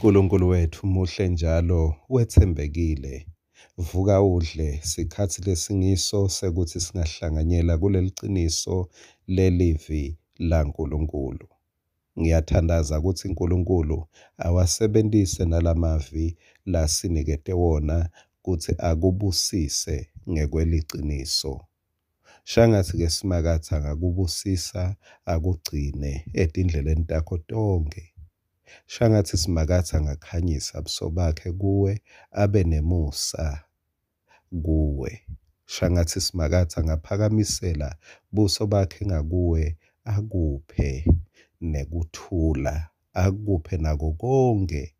Nkulunkulu wetfu muhle njalo wetsembekile. Vuka udle, sikhatsi lesingiso sekutsi singahlanganyela kuleliciniso lelivi laNkulunkulu. Ngiyathandaza kutsi Nkulunkulu awasebentise nalamavi lasinikete wona kutsi akubusise ngekweliciniso. Shangatsi-ke Simakadze angakubusisa akugcine etindleleni takho tonkhe. Shangatsi Simakadze angakhanyisa buso bakhe kuwe abe nemusa kuwe. Shangatsi Simakadze angaphakamisela buso bakhe ngakuwe akuphe nekuthula, akuphe nako konkhe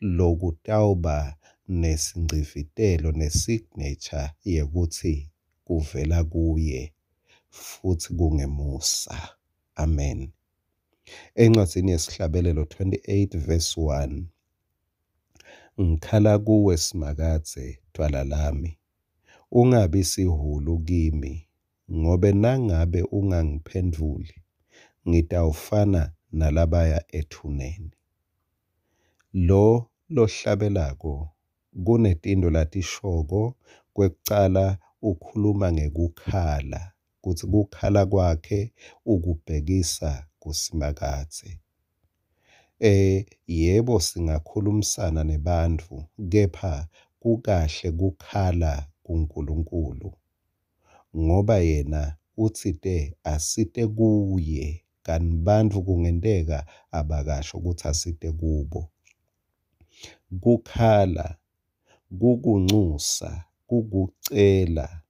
lokutawuba nesingcivitelo ne-signature yekutsi kuvela kuye futsi kungemusa. Amen. Encwadzini yesihlabelelo 28 verse 1. Ngikhala kuwe Simakadze, dvwala lami. Ungabi sihhulu kimi, ngobe nangabe ungangiphendvuli, ngitawufana nalabaya ethuneni. Lo lohlabelako kunetintfo latishoko. Kwekucala ukhuluma ngekukhala, kutsi kukhala kwakhe ukubhekisa kuSimakadze. Yebo singakhulumisana nebantfu, kepha kukahle kukhala kuNkulunkulu ngoba yena utsite asite kuye kanti bantfu kungenteka abakasho kutsi asite kubo. Kukhala kukuncusa, kukucela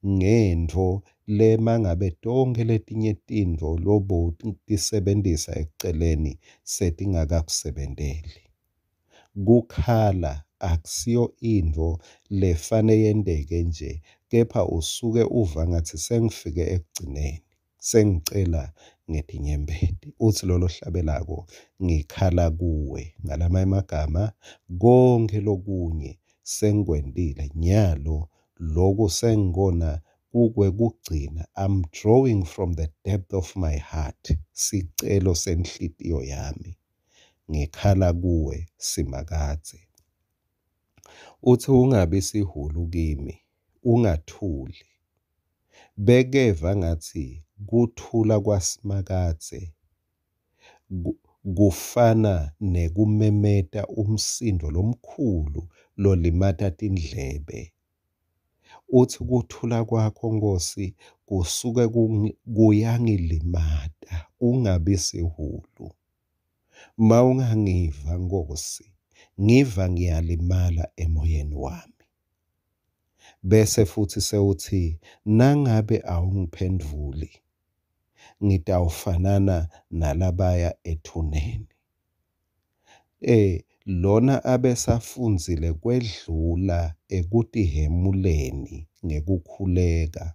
ngentfo le mangabe tonkhe letinye tintfo lobotisebentisa ekuceleni setingakakusebenteli. Kukhala akusiyo intfo lefane yenteke nje kepha usuke uva ngatsi sengifike ekugcineni, sengicela ngetinyembeti. Utsi lolo hlabelako ngikhala kuwe. Ngalamanye emagama konkhe lokunye sengikwentile nyalo loku sengikona kukwekugcina. I'm drawing from the depth of my heart sicelo senhlitiyo yami. Ngikhala kuwe Simakadze. Utsi ungabi sihhulu kimi, ungathuli. Bekeva ngatsi kuthula kwaSimakadze kufana nekumemeta umsindvo lomkhulu lolimata tindlebe. Utsi kuthula kwakho Nkhosi kusuke kuyangilimata, ungabi sihhulu. Mawungangiva Nkhosi, ngiva ngiyalimala emoyeni wami. Bese futhi sewuthi nangabe awungiphendvuli, ngitawufanana nalabaya ethuneni. Lona abesafundzile kwedlula ekutihhemuleni ngekukhuleka.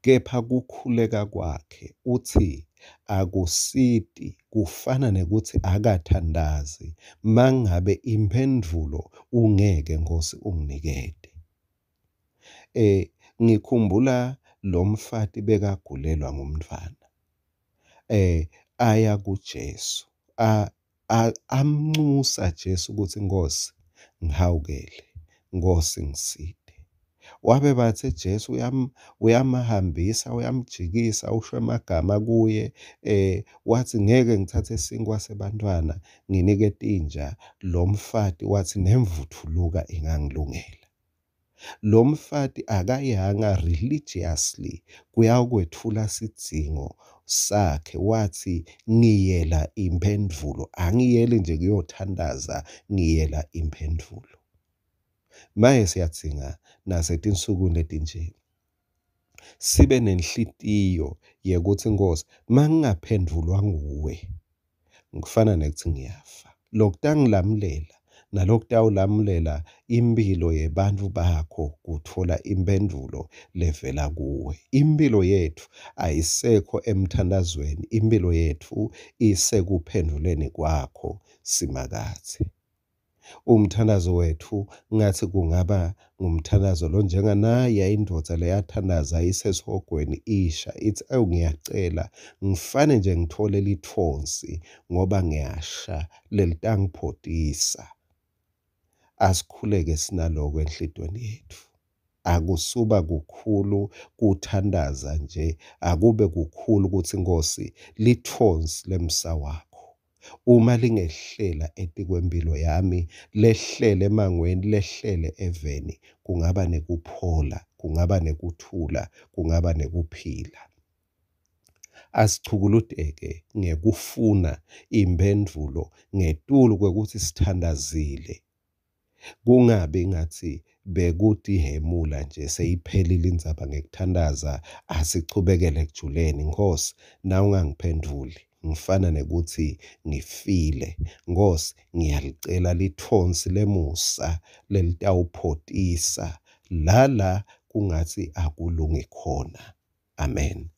Kepha kukhuleka kwakhe utsi akusiti kufana nekutsi akathandazi mangabe imphendvulo ungeke Nkhosi unginikete. Ngikhumbula lomfati bekagulelwa ngumntfwana. Aya kuJesu amnxusa Jesu ukuthi Nkhosi ngihawukele, Nkhosi ngisite. Wabe batse Jesu uyamhambisa uyamjikisa usho emagama kuye wathi ngeke ngithathe sinkwa sebantfwana nginike tinja. Lo mfati wathi nemvuthuluka ingangilungela. Lo mfati akayanga religiously kuyawukwetfula sidzingo sakhe wathi ngiyela imphendvulo angiyeli nje kuyothandaza ngiyela imphendvulo. Maye siyadzinga nasetinsukwini letinje sibe nenhlitiyo yekutsi Nkhosi mangingaphendvulwa nguwe ngifana nekuthi ngiyafa. Lokutangilamulela nalokutawulamulela imphilo yebantfu bakho kutfola imphendvulo levela kuwe. Imphilo yetfu ayisekho emthandazweni, imphilo yetfu isekuphendvuleni kwakho Simakadze. Umthandazo wetfu ngathi kungaba ngumthandazo lonjenganaya indvodza leyathandaza isesihogweni isha itsi, ewu ngiyacela ngifane nje ngithole litfonsi ngoba ngiyasha lelitangiphotisa. Asikhuleke sinaloko enhlitiyweni yetfu. Akusuba kukhulu kuthandaza nje, akube kukhulu kutsi Nkhosi litfonsi lemsa wakho uma lingehlela etikwemphilo yami, lehlele emangweni, lehlele eveni, kungaba nekuphola, kungaba nekuthula, kungaba nekuphila. Asichukuluteke ngekufuna imphendvulo ngetulu kwekutsi sithandazile. Kungabi ngatsi bekutihhemula nje seyiphelile indzaba ngekuthandaza, asichubekele ekujuleni. Nkhosi, nawungangiphendvuli ngifana nekutsi ngifile. Nkhosi, ngiyalicela litfonsi lemusa lelitawuphotisa la la kungatsi akulungi khona. Amen.